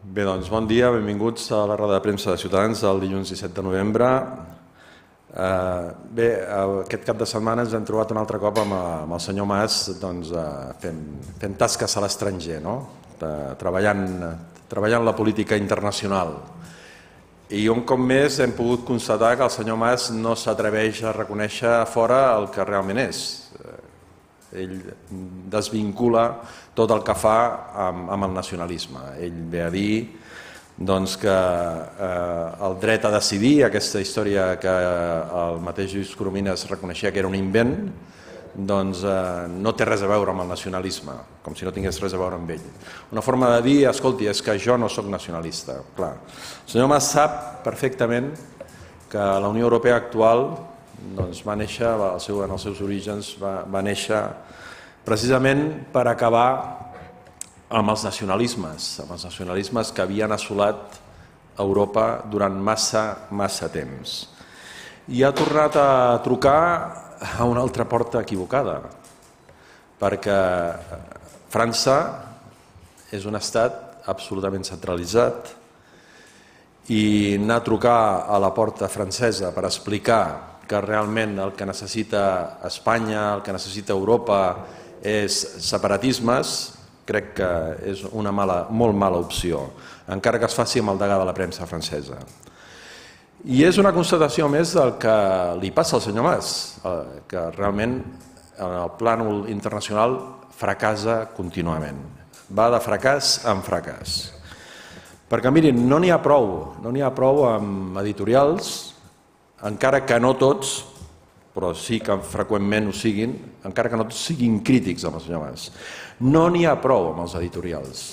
Bé, doncs bon dia, benvinguts a la roda de premsa de Ciutadans del dilluns 17 de novembre. Bé, aquest cap de setmana ens hem trobat un altre cop amb el senyor Mas fent tasques a l'estranger, treballant la política internacional. I un cop més hem pogut constatar que el senyor Mas no s'atreveix a reconèixer a fora el que realment és. Ell desvincula tot el que fa amb el nacionalisme. Ell ve a dir que el dret a decidir, aquesta història que el mateix Lluís Corominas reconeixia que era un invent, no té res a veure amb el nacionalisme, com si no tingués res a veure amb ell. Una forma de dir, escolti, és que jo no sóc nacionalista. Clar, el senyor Mas sap perfectament que la Unió Europea actual va néixer, en els seus orígens, va néixer precisament per acabar amb els nacionalismes que havien assolat Europa durant massa temps. I ha tornat a trucar a una altra porta equivocada, perquè França és un estat absolutament centralitzat i anar a trucar a la porta francesa per explicar que realment el que necessita Espanya, el que necessita Europa és separatismes, crec que és una molt mala opció, encara que es faci amb el degà de la premsa francesa. I és una constatació més del que li passa al senyor Mas, que realment en el plànol internacional fracassa contínuament. Va de fracàs en fracàs. Perquè mirin, no n'hi ha prou amb editorials, encara que no tots, però sí que freqüentment ho siguin, encara que no tots siguin crítics amb el senyor Mas. No n'hi ha prou amb els editorials,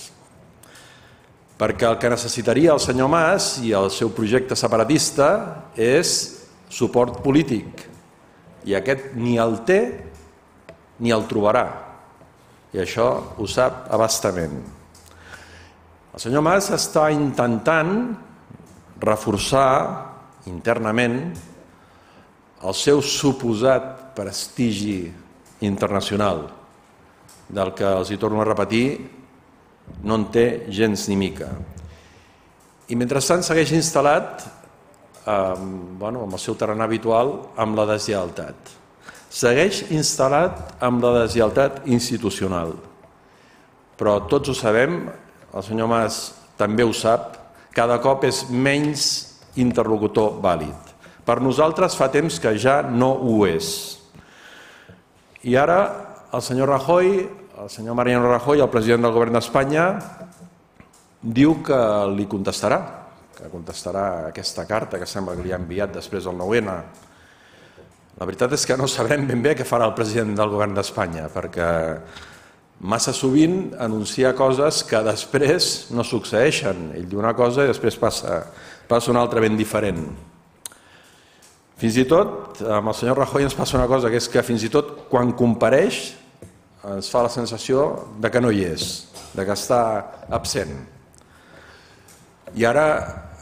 perquè el que necessitaria el senyor Mas i el seu projecte separatista és suport polític, i aquest ni el té ni el trobarà, i això ho sap a bastament. El senyor Mas està intentant reforçar internament el seu suposat prestigi internacional, del que els hi torno a repetir, no en té gens ni mica. I mentrestant segueix instal·lat amb el seu tarannà habitual amb la deslleialtat. Segueix instal·lat amb la deslleialtat institucional. Però tots ho sabem, el senyor Mas també ho sap, cada cop és menys interlocutor vàlid. Per nosaltres fa temps que ja no ho és. I ara el senyor Rajoy, el senyor Mariano Rajoy, el president del govern d'Espanya, diu que li contestarà, que contestarà aquesta carta que sembla que li ha enviat després del 9-N. La veritat és que no sabrem ben bé què farà el president del govern d'Espanya, perquè massa sovint anuncia coses que després no succeeixen. Ell diu una cosa i després passa una altra ben diferent. Fins i tot, amb el senyor Rajoy ens passa una cosa, que és que fins i tot quan compareix ens fa la sensació de que no hi és, de que està absent. I ara,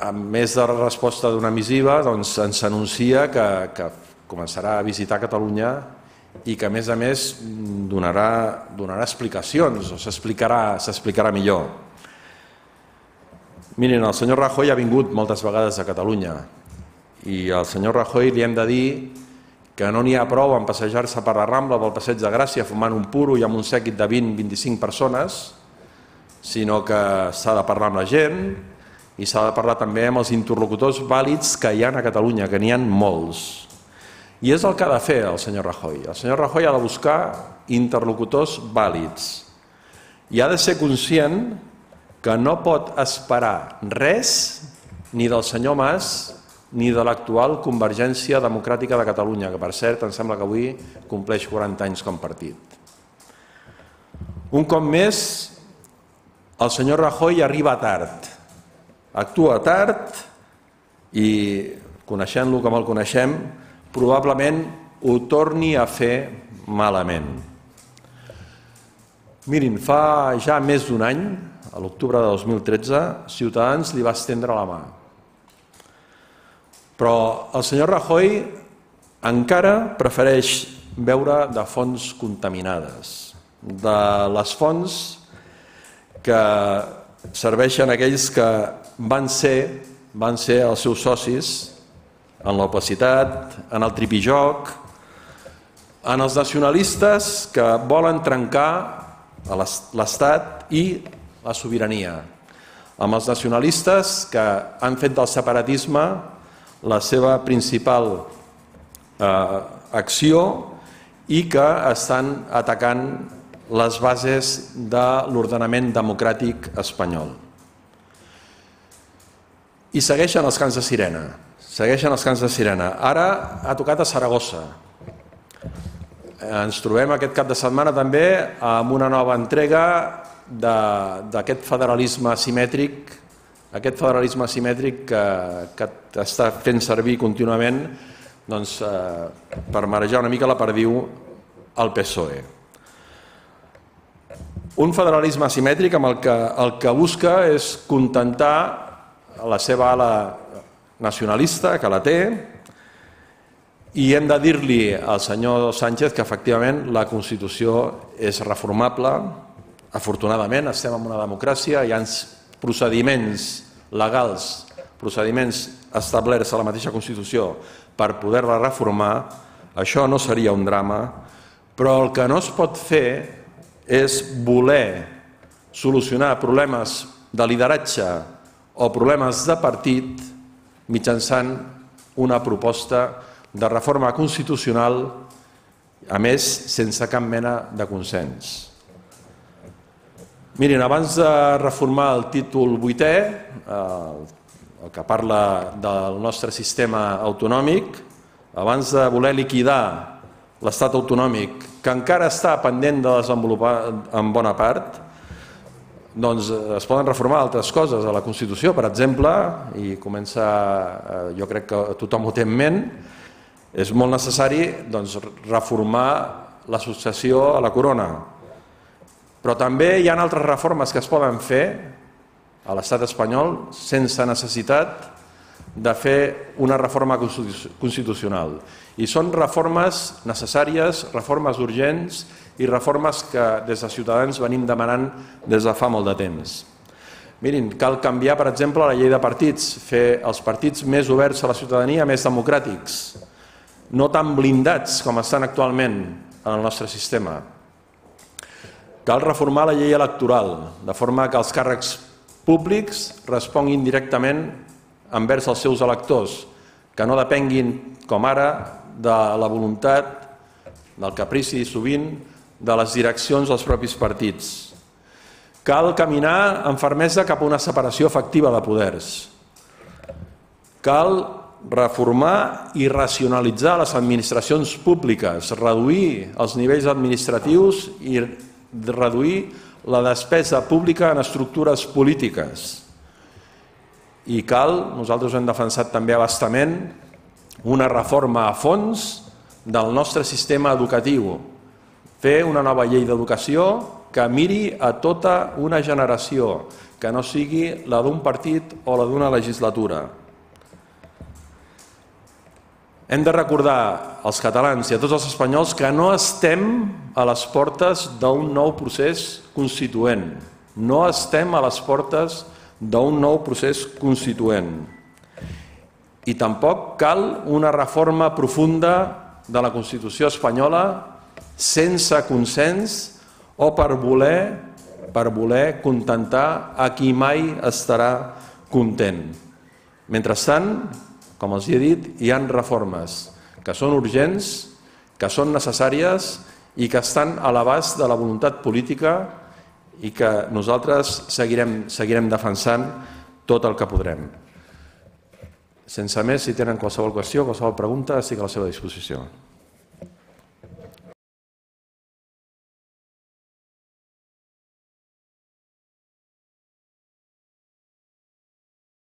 a més de la resposta d'una missiva, ens anuncia que començarà a visitar Catalunya i que, a més, donarà explicacions, o s'explicarà millor. Miren, el senyor Rajoy ha vingut moltes vegades a Catalunya i al senyor Rajoy li hem de dir que no n'hi ha prou en passejar-se per la Rambla o pel Passeig de Gràcia fumant un puro i amb un sèquit de 20-25 persones, sinó que s'ha de parlar amb la gent i s'ha de parlar també amb els interlocutors vàlids que hi ha a Catalunya, que n'hi ha molts. I és el que ha de fer el senyor Rajoy. El senyor Rajoy ha de buscar interlocutors vàlids i ha de ser conscient que no pot esperar res ni del senyor Mas ni de l'actual Convergència Democràtica de Catalunya, que per cert em sembla que avui compleix 40 anys com partit. Un cop més, el senyor Rajoy arriba tard, actua tard i, coneixent-lo com el coneixem, probablement ho torni a fer malament. Mirin, fa ja més d'un any, a l'octubre de 2013, Ciutadans li va estendre la mà. Però el senyor Rajoy encara prefereix beure de fonts contaminades, de les fonts que serveixen aquells que van ser els seus socis en l'opacitat, en el tripijoc, en els nacionalistes que volen trencar l'Estat i la sobirania, amb els nacionalistes que han fet del separatisme la seva principal acció i que estan atacant les bases de l'ordenament democràtic espanyol. I segueixen els cants de sirena. Segueixen els cants de sirena. Ara ha tocat a Saragossa. Ens trobem aquest cap de setmana també amb una nova entrega d'aquest federalisme asimètric, que està fent servir contínuament per marejar una mica la perdiu al PSOE. Un federalisme asimètric amb el que busca és contentar la seva ala nacionalista, que la té, i hem de dir-li al senyor Sánchez que efectivament la Constitució és reformable. Afortunadament estem en una democràcia, hi ha procediments legals, procediments establerts a la mateixa Constitució per poder-la reformar. Això no seria un drama, però el que no es pot fer és voler solucionar problemes de lideratge o problemes de partit mitjançant una proposta de reforma constitucional, a més, sense cap mena de consens. Mirin, abans de reformar el títol 8è, el que parla del nostre sistema autonòmic, abans de voler liquidar l'estat autonòmic, que encara està pendent de desenvolupar en bona part, doncs es poden reformar altres coses a la Constitució, per exemple, i jo crec que tothom ho té en ment, és molt necessari reformar la successió a la corona. Però també hi ha altres reformes que es poden fer a l'estat espanyol sense necessitat de fer una reforma constitucional. I són reformes necessàries, reformes urgents i reformes que des de Ciutadans venim demanant des de fa molt de temps. Mirin, cal canviar, per exemple, la llei de partits, fer els partits més oberts a la ciutadania, més democràtics, no tan blindats com estan actualment en el nostre sistema. Cal reformar la llei electoral, de forma que els càrrecs públics responguin directament envers els seus electors, que no depenguin, com ara, de la voluntat, del caprici sovint, de les direccions dels propis partits. Cal caminar amb fermesa cap a una separació efectiva de poders. Cal reformar i racionalitzar les administracions públiques, reduir els nivells administratius i reduir la despesa pública en estructures polítiques. I cal, nosaltres ho hem defensat també a bastament, una reforma a fons del nostre sistema educatiu. Fer una nova llei d'educació que miri a tota una generació, que no sigui la d'un partit o la d'una legislatura. Hem de recordar als catalans i a tots els espanyols que no estem a les portes d'un nou procés constituent. No estem a les portes d'un nou procés constituent. I tampoc cal una reforma profunda de la Constitució espanyola sense consens o per voler contentar a qui mai estarà content. Mentrestant, com els he dit, hi ha reformes que són urgents, que són necessàries i que estan a l'abast de la voluntat política i que nosaltres seguirem defensant tot el que podrem. Sense més, si tenen qualsevol qüestió, qualsevol pregunta, estic a la seva disposició.